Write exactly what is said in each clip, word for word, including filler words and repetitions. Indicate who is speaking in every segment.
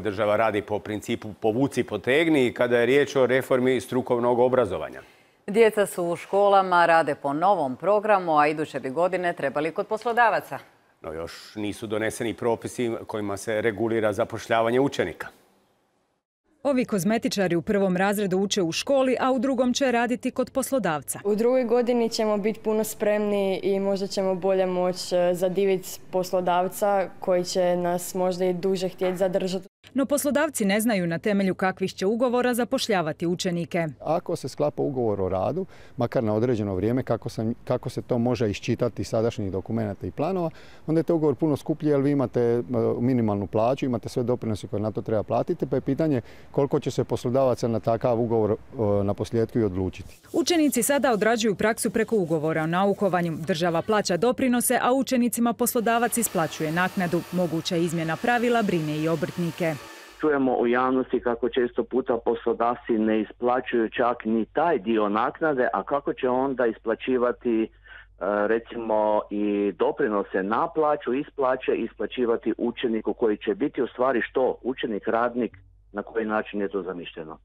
Speaker 1: Država radi po principu povuci potegni kada je riječ o reformi strukovnog obrazovanja.
Speaker 2: Djeca su u školama, rade po novom programu, a iduće bi godine trebali kod poslodavaca.
Speaker 1: No još nisu doneseni propisi kojima se regulira zapošljavanje učenika.
Speaker 3: Ovi kozmetičari u prvom razredu uče u školi, a u drugom će raditi kod poslodavca.
Speaker 4: U drugoj godini ćemo biti puno spremni i možda ćemo bolje moći zadiviti poslodavca koji će nas možda i duže htjeti zadržati.
Speaker 3: No poslodavci ne znaju na temelju kakvih će ugovora zapošljavati učenike.
Speaker 5: Ako se sklapa ugovor o radu, makar na određeno vrijeme, kako, sam, kako se to može iščitati iz sadašnjih dokumenata i planova, onda je to ugovor puno skuplji jer vi imate minimalnu plaću, imate sve doprinose koje na to treba platiti, pa je pitanje koliko će se poslodavaca na takav ugovor na posljedku i odlučiti.
Speaker 3: Učenici sada odrađuju praksu preko ugovora o naukovanju. Država plaća doprinose, a učenicima poslodavac isplaćuje naknadu. Moguća izmjena pravila brine i obrtnike.
Speaker 6: Čujemo u javnosti kako često puta poslodavci ne isplaćuju čak ni taj dio naknade, a kako će onda isplaćivati recimo i doprinose na plaću, isplaće, isplaćivati učeniku koji će biti u stvari što? Učenik, radnik, na koji način je to zamišljeno?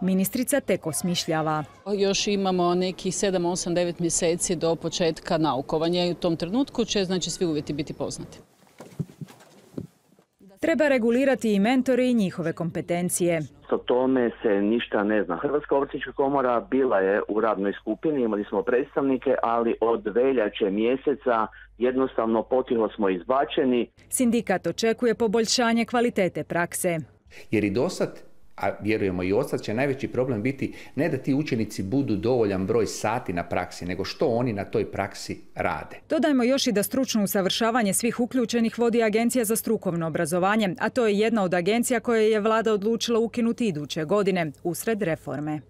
Speaker 3: Ministrica tek osmišljava.
Speaker 7: Još imamo nekih sedam, osam, devet mjeseci do početka naukovanja i u tom trenutku će znači svi uvjeti biti poznati.
Speaker 3: Treba regulirati i mentore i njihove kompetencije.
Speaker 6: O tome se ništa ne zna. Hrvatska obrtnička komora bila je u radnoj skupini, imali smo predstavnike, ali od veljače mjeseca jednostavno potiho smo izbačeni.
Speaker 3: Sindikat očekuje poboljšanje kvalitete prakse.
Speaker 8: Jer i dosad, a vjerujemo i odsad, će najveći problem biti ne da ti učenici budu dovoljan broj sati na praksi, nego što oni na toj praksi rade.
Speaker 3: Dodajmo još i da stručno usavršavanje svih uključenih vodi Agencija za strukovno obrazovanje, a to je jedna od agencija koje je vlada odlučila ukinuti iduće godine, usred reforme.